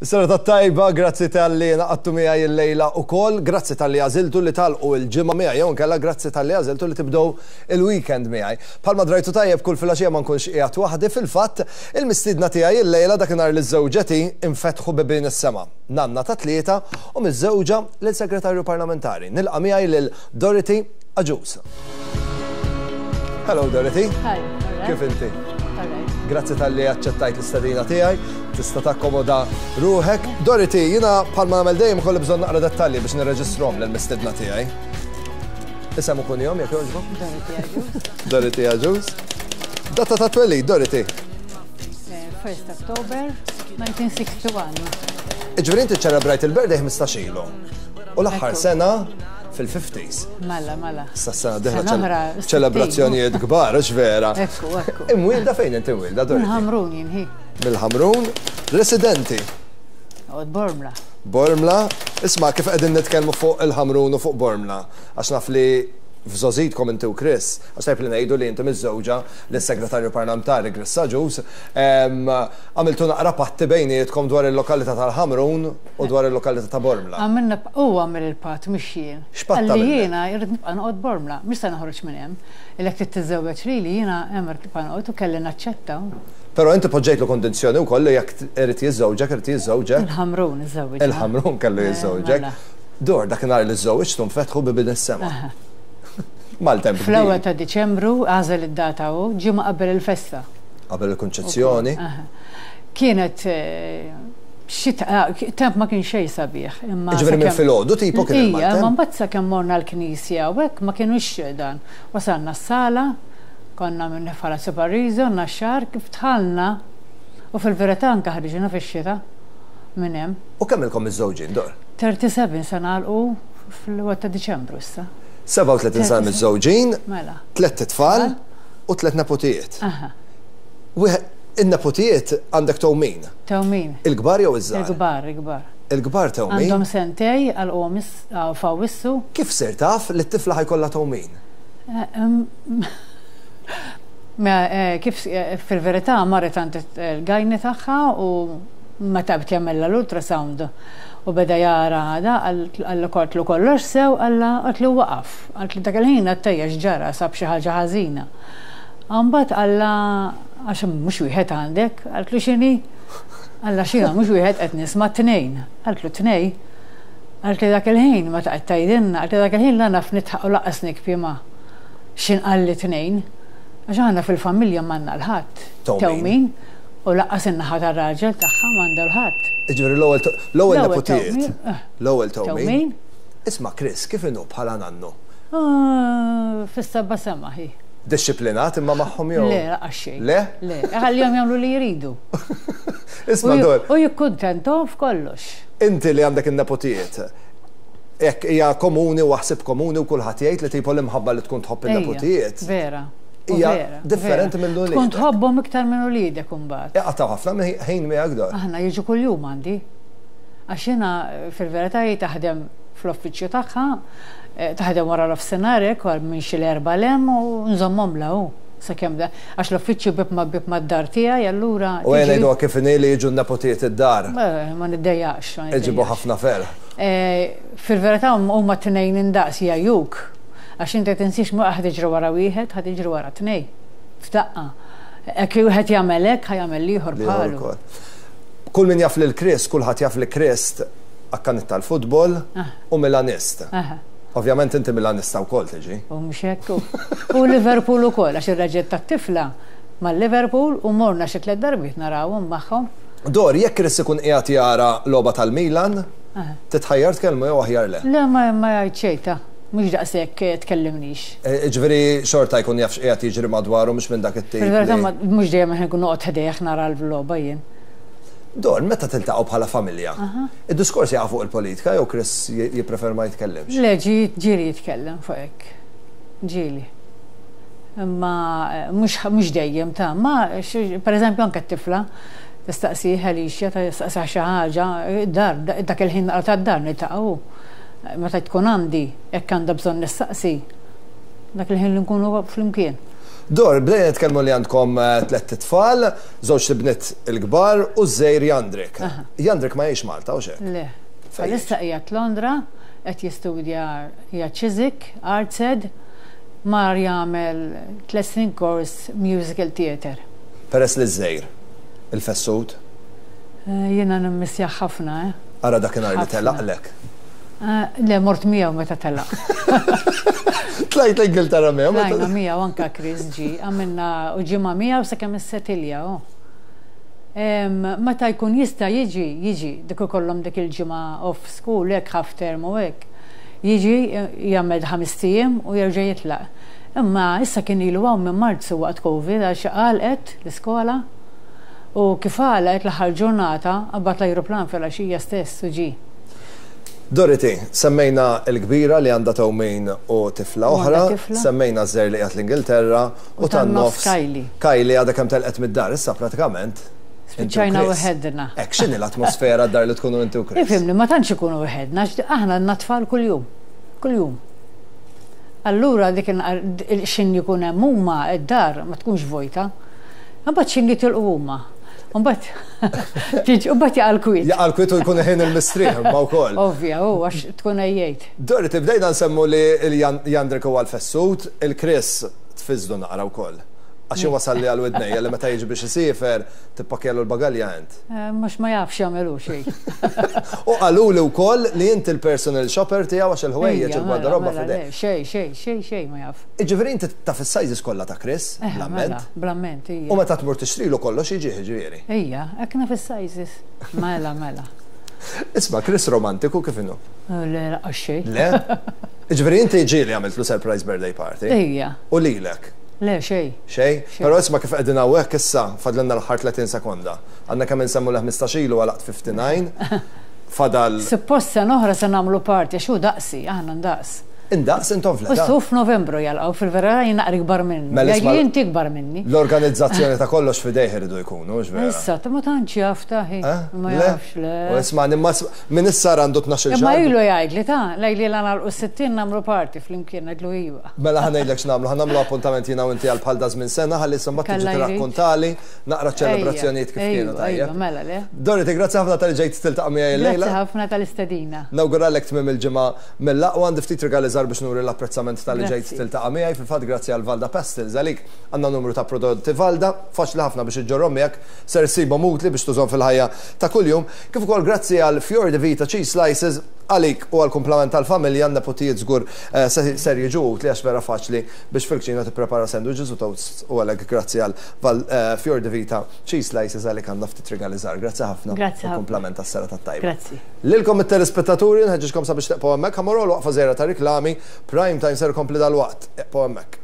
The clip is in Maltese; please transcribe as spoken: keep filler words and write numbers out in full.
Serata tajba, grazzi talli ngħaqadtu miegħi illejla ukoll, grazzi talli għażiltu li tagħlqu il-ġimgħa miegħi, jew inkella grazzi talli għażiltu li tibdew il-weekend miegħi. Bħalma drajtu tajjeb, kull filgħaxija ma nkunx qiegħed waħdi. Fil-fatt, il-mistiedna tiegħi illejla, dakinhar li żżewġet infetħu bibien is-sema. Nanna ta' tlieta u miżżewġa lil segretarju parlamentari. Nilqa' miegħi lil Dorothy Agius. Hello, Dorothy. Hi. Kif inti? Grazzi talli aċċettajt l-istedina tiegħi, tista' takkomoda ruħek. Dorothy, jiena bħalma nagħmel dejjem ikolli bżonn naqra dettalji biex nirreġistrahom lill-mistiedna tiegħi. Isem u kunjom, jekk jogħġbok? Dorothy Agius. Dorothy Agius. Data ta' twelid, Dorothy? first October nineteen sixty-one. Ġifieri inti ċelebrajt il-birthday ħmistax ilu. U l-aħħar Ekku. sena fil-fifties. Mela, mela. Sa sena dieħla Sena oħra, ċelebrazzjonijiet kbar, hux vera? Ekku, ekku. Imwielda fejn inti imwielda, Dorothy? Mill-Ħamrun jien hi. Mill-Ħamrun, residenti? Għod Bormla. Bormla. Isma', kif qegħdin nitkellmu fuq il-Ħamrun u fuq Bormla, għax naf li f'żgħożitkom inti u Chris, għax tajb li ngħidu li inti miżżewġa lis-segretarju parlamentari Chris Agius, em, għamiltu naqra patti bejnietkom dwar il-lokalità tal-Ħamrun u dwar il-lokalità ta' Bormla. Għamilna, u għamil il-patt, mhux jien. X'patt Qalli għamilna? jiena irrid nibqa' noqgħod Bormla, mhux se noħroġ minn hemm. Ilek trid tiżżewweġ lili, jiena hemm irrid nibqa' noqgħod u kelli naċċetta. Però inti poġġejtlu kondizzjoni wkoll li jekk irid jiżżewġek, irid jiżżewġek. Il-Ħamrun iżżewweġ. Il-Ħamrun kellu Eh, jiżżewġek. mela. Dor, dakinhar li żżewġtu nfetħu bibien is-sema. Maltemp Fl-ewwel kbir. ta' Diċembru għażel id-data u ġimgħa qabel il-festa. Qabel il-Konċezzjoni. Aha. Kienet eh, xita, ah, temp ma kien xejn sabiħ. Imma Ġifieri minn sakemm- filgħodu tipo kien Ija, il-maltemp? ma mbagħad sakemm morna l-knisja u hekk ma kienux dan. Wasalna s-sala, konna minn Palazzo Pariso, Naxxar, kif dħalna u fil-verità anke ħriġna fix-xita minn hemm. U kemm ilkom miżżewġin, Dor? tlieta u sebgħin se nagħlqu fl-ewwel ta' Diċembru issa. sebgħa u tletin sena miżżewġin, Mela. tliet tfal u tliet nepotijiet. Aha. Wieħed in-nepotijiet, għandek tewmin. Tewmin. Il-kbar jew iż-żgħar? Il-kbar, il-kbar. Il-kbar tewmin. Għandhom sentejn, għalqu f'Awwissu. Kif sir taf li t-tifla ħa jkollha tewmin? Eh, em, Ma eh, kif eh, fil-verità marret għand il-gynae tagħha u meta bdiet jagħmilha l-ultrasound u beda jara da għalla qaltlu kollox sew, għalla qaltlu waqaf. Qaltlu dak il-ħin għattejja ġara sab xi ħaġa ħażina. Mbagħad għalla għax mhux wieħed għandek, qaltlu x'inhi? Għalla xina mhux wieħed, qed nisma' tnejn. Qaltlu tnejn. Qaltli dak il-ħin ma taqgħod tgħidilna, qaltli dak il-ħin la naf nidħaq u lanqas nibki ma x'ħin qalli tnejn. Għax aħna fil-familja m'għandna 'l ħadd. Tewmin. Tewmin. U lanqas in-naħa tar-raġel tagħha m'għandha 'l ħadd. Ġifieri l-ewwel l-ewwel L-ewwel nepotijiet. tewmin, eh. L-ewwel tewmin. Tewmin. Isma', Chris, kif inhu bħala nannu? Ah, fis-seba' sema hi. Disciplinat imma magħhom jew? Le, lanqas xejn. Le? Le, ħallihom jagħmlu li jridu. Isma' U ju- Dor, U jikkuntentom f'kollox. inti li għandek in-nepotijiet, hekk hija komuni u ħsieb komuni u kulħadd jgħid li tipo l-imħabba li tkun tħobb in-nepotijiet Ejja, vera. U hija vera, differenti vera. minn uliedek. Tkun tħobbhom iktar minn uliedek imbagħad. Iqattgħu ħafna ħin miegħek, Dor? Aħna jiġu kuljum għandi. Għax jiena fil-verità hi taħdem fl-uffiċċju tagħha, eh, taħdem wara l-offsinhar hekk minn xi l-erba' 'l hemm u nżommhom lahu. Sakemm da, għax l-uffiċċju bib ma bib mad-dar tiegħi, allura. U jena tiġi- ngħidu kif inhi li jiġu n-nepotijiet id-dar. Eh, Ma niddejjaqx. Ma Iġibu niddejjaqx. ħafna ferħ. Eh, Fil-verità huma tnejn indaqs jgħajjuk. Għax inti tinsiex ma ħa tiġri wara wieħed, ħa tiġri wara tnejn. F'daqqa. Hekk wieħed jagħmel hekk, ħa jagħmel ieħor Li bħalu. ukoll. Kull min jaf lil Chris, kulħadd jaf li Chris akkanit tal-futbol Ah. u Milanist. Aha. Ovvjament inti Milanista wkoll tiġi. U mhux hekk. U Liverpool ukoll, għax ir-raġel tat-tifla mal-Liverpool u morna xi tliet darbiet narawhom magħhom. Dor, jekk Chris ikun qiegħed jara logħba tal-Milan, Aha. titħajjar tkellmu jew aħjar le? Le, ma ma jgħid xejn ta', mhux daqshekk tkellimnix. E, Ġifieri xorta jkun jaf x'qiegħed jiġri madwaru, mhux minn dak it-tip. Fil-verità li- ma- mhux dejjem ħin nkun noqgħod ħdejh nara l-logħba jien. Dor, meta tiltaqgħu bħala familja, id-diskors jaqa' fuq il-politika jew Chris j- jipprefer ma jitkellimx? Le, ġi ġieli jitkellem fuq hekk. Ġieli. Imma eh, mhux mhux dejjem ta' ma xi- per eżempju anke t-tifla tistaqsih Alicia, tistaqsih xi ħaġa, dar dak il-ħin naqra tad-dar niltaqgħu. Meta tkun għandi, hekk għandha bżonn nistaqsi. Dak il-ħin li nkunu flimkien. Dor, bdejna nitkellmu li għandkom tlett itfal, żewġt ibniet il-kbar u ż-żgħir Jandrik. Jandrik ma jgħix Malta, u xek? Le. Issa qiegħed Londra, qed jistudja qiegħed Chiswick, ArtsEd, mar jagħmel tliet snin course musical theatre. Peress li ż-żgħir, il-fessut? Jiena nimmissjah ħafna, eh? Ara dakinhar li telaqlek. Le, mort miegħu meta telaq. Tlajt l-Ingilterra miegħu? Tlajna miegħu anka Chris ġi, għamilna u ġimgħa miegħu sakemm issetilja. Meta jkun jista' jiġi, jiġi, dik ikollhom dik il-ġimgħa off school, hekk half term u hekk. Jiġi jagħmel ħames ijiem u jerġa' jitlaq. Imma issa kien ilu hawn minn Marzu waqt Covid għax għalqet l-iskola u kif għalqet l-aħħar ġurnata qabad l-ajruplan filgħaxija stess u ġie. Dorothy, semmejna l-kbira li għandha tewmin u tifla oħra, semmejna ż-żgħir li qiegħed l-Ingilterra u tan-nofs Kylie. Kylie għadha kemm telqet mid-dar issa pratikament. Spiċċajna weħedna. Hekk x'inhi l-atmosfera d-dar li tkunu inti u Chris? Ifhimni, ma tantx ikunu weħedna, aħna għandna tfal kuljum. Kuljum. Allura dik xin jkun hemm huma d-dar ma tkunx vojta. Imbagħad xin jitilqu huma. Mbagħad mbagħad jaqa' l-kwiet. Jaqa' l-kwiet u jkun ħin il-mistrieħ imma wkoll. Ovvja, u għax tkun għejjejt. Dorothy, bdejna nsemmu li Jandrik huwa l-fessut, il-Chris tfiżdu naqra wkoll. Għax wasal li għal widnejja li meta jiġi biex isiefer tippakjalu l-bagalja int. Mhux ma jafx jagħmelu xejn. U qalu li wkoll li inti l-personal shopper tiegħu għax il-ħwejjeġ il-gwardarobba f'idejk. Xejn, xejn, xejn, xejn ma jaf. Jiġifieri inti taf is-sizes kollha ta' Chris, bl-amment. Bl-amment, ija. U meta tmur tixtrilu kollox jiġi ġifieri. Ija, hekk naf is-sizes. Mela, mela. Isma', Chris romantiku kif inhu? Le, lanqas xejn. Le? Jiġifieri inti ġieli għamiltlu surprise birthday party? Ija. U lilek? Le, xejn. Xejn? Però isma' kif qegħdin hawnhekk issa fadlilna l-aħħar tletin sekonda. Għandna kemm insemmu l ħmistax ilu għalaqt ħamsa u ħamsin. Fadal. Suppost sena oħra se nagħmlu party għax hu daqsi, aħna ndaqs. Indaqs intom fl-età? U f'Novembru jalqgħu, fil-vera jien naqra ikbar minnu. Mela isma' Jgħidli inti ikbar minni. L-organizzazzjoni ta' kollox f'idejh iridu jkunu, mhux vera? Issa, ta' ma tantx jaf ta' hi. Eh? Ma Le? jafx, le. U isma' imma minn issa għandu tnax-il Imma xahar. ilu jgħidli ta' lejli la nagħlqu sittin nagħmlu party flimkien ngħidlu iva. Mela ħa ngħidlek x'nagħmlu, ħa nagħmlu appuntament jiena u inti għal bħal daż minn sena ħalli issa mbagħad tiġi Kalla jrid. tirrakkontali naqra ċelebrazzjonijiet kif kienu Ejwa, tajjeb. ejwa, mela le. Dorothy, grazzi ħafna talli ġejt tiltaqa' miegħi llejla. Grazzi ħafna tal-istedina. Nawguralek tmiem il-ġimgħa mill-aqwa, għandi ftit rigali żgħar biex nuri l-apprezzament talli ġejt Grazzi. tiltaqa' miegħi. Fil-fatt grazzi għal Valda Pastels għalik għandna numru ta' prodotti Valda, faċli ħafna biex iġġorhom miegħek, ser issibhom utli biex tużhom fil-ħajja ta' kuljum. Kif ukoll grazzi għal Fior di Vita Cheese Slices għalik u għal kumplament tal-familja, neputijiet żgur eh, se- ser jiġu utli għax vera faċli biex fil-kċina tipprepara sandwiches u toasts, u għalhekk grazzi għal Val- eh, Fior di Vita Cheese Slices għalik għandna ftit rigali żgħar. Grazzi ħafna. Grazzi U ħafna. kumplament tas-serata tajba. Grazzi. Lilkom it-telespettaturi nħeġġiġkom sabiex tibqgħu hemmhekk, ħa mmorru waqfa żgħira ta' riklami, Prime Time ser ikompli dalwaqt. Ibqgħu hemmhekk.